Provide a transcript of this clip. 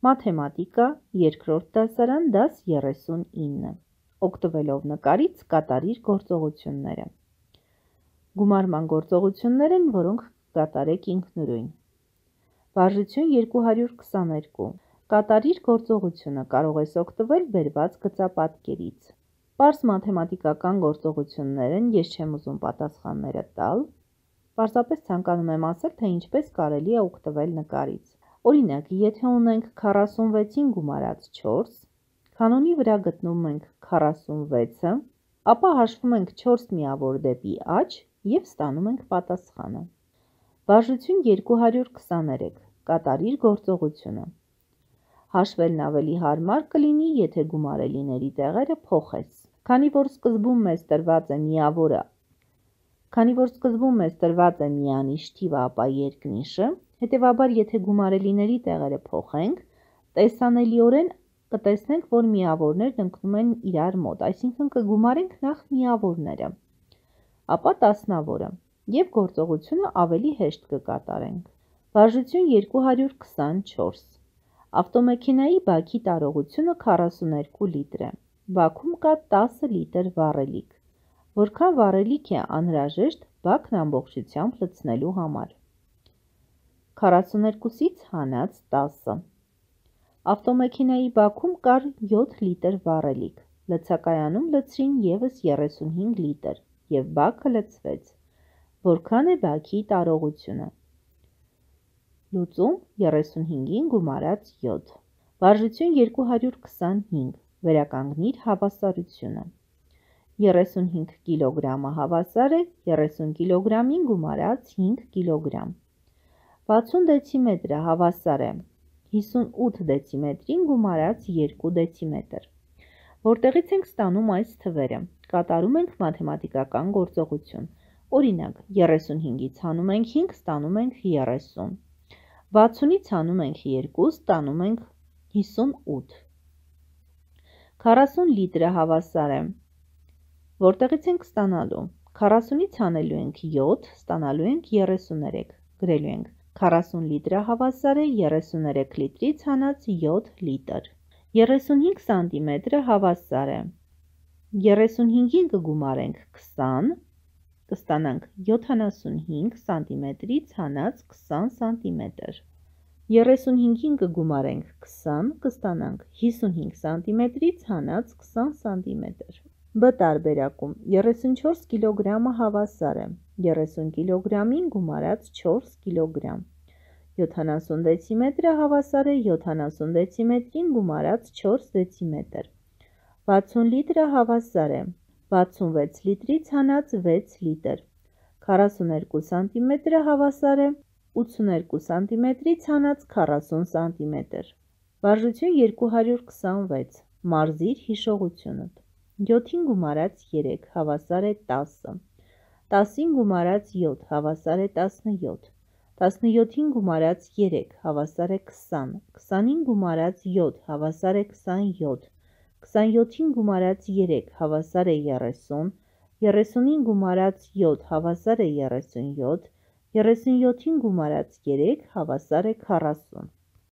Մաթեմատիկա, երկրորդ դասարան, դաս 39, օգտվելով նկարից կատարիր գործողությունները։ Գումարման գործողություններ են, որոնք կկատարեք ինքնուրույն։ Վարժություն 222, կատարիր գործողությունը, կարող ես օգտվել բերված գծապատկերից։ Պարզ մաթեմատիկական գործողություններ են, ես չեմ ուզում պատասխանները տալ, պարզապես ցանկանում եմ ասել, թե ինչպես կարելի է օգտվել նկարից։ Օրինակ, եթե ունենք 46-ին գումարած 4, կանոնի վրա գտնում ենք 46-ը, ապա հաշվում ենք 4 միավոր դեպի աջ և ստանում ենք պատասխանը։ Վարժություն 223, կատարիր գործողությունը։ Հաշվելն ավելի հարմար կլինի, եթե գումարելիների տեղերը փոխես։ Քանի որ սկզբում մեզ տրված է միանիշ թիվը, ապա երկնիշը, հետևաբար եթե գումարելիների տեղերը փոխենք, տեսանելիորեն կտեսնենք, որ միավորներն ընկնում են իրար մոտ, այսինքն կգումարենք նախ միավորները, ապա տասնավորը և գործողությունը ավելի հեշտ կկատարենք։ Վարժություն 224, ավտոմեքենայի բաքի տարողությունը 42 լիտր է, բաքում կա 10 լիտր վառելիք, որքան վառելիք է անհրաժեշտ բաքն ամբողջությամբ լցնելու համար։ 42-ից հանած 10, ավտոմեքենայի բաքում կար 7 լիտր վառելիք, լցակայանում լցրին ևս 35 լիտր և բաքը լցվեց, որքան է բաքի տարողությունը։ Լուծում 35-ին գումարած 7, վարժություն 225, վերականգնիր հավասարությունը։ 35 կիլոգրամը հավասար է 30 կիլոգրամին գումարած 5 կիլոգրամ։ 60 դեցիմետրը հավասար է 58 դեցիմետրին գումարած 2 դեցիմետր։ Որտեղից ենք ստանում այս թվերը, կատարում ենք մաթեմատիկական գործողություն։ Օրինակ, 35-ից հանում ենք 5, ստանում ենք 30, 60-ից հանում ենք 2, ստանում ենք 58, 40 լիտրը հավասար է, որտեղից ենք ստանալու, 40-ից հանելու ենք 7, ստանալու ենք 33, գրելու ենք 40 լիտրը հավասար է 33 լիտրից հանած 7 լիտր։ 35 սանտիմետրը հավասար է, 35-ին կգումարենք 20, կստանանք 75 սանտիմետրից հանած 20 սանտիմետր։ 35-ին կգումարենք 20, կստանանք 55 սանտիմետրից հանած 20 սանտիմետր։ B տարբերակում 34 կիլոգրամը հավասար է 30 կիլոգրամին գումարած 4 կիլոգրամ։ 70 դեցիմետրը հավասար է 70 դեցիմետրին գումարած 4 դեցիմետր։ 60 լիտրը հավասար է 66 լիտրից հանած 6 լիտր։ 42 սանտիմետրը հավասար է 82 սանտիմետրից հանած 40 սանտիմետր։ Վարժություն 226, մարզիր հիշողությունդ։ 7-ին գումարած 3 հավասար է 10, 10-ին գումարած 7 հավասար է 17, 17-ին գումարած 3 հավասար է 20, 20-ին գումարած 7 հավասար է 27, 27-ին գումարած 3 հավասար է 30, 30-ին գումարած 7 հավասար է 37, 37-ին գումարած 3 հավասար է 40։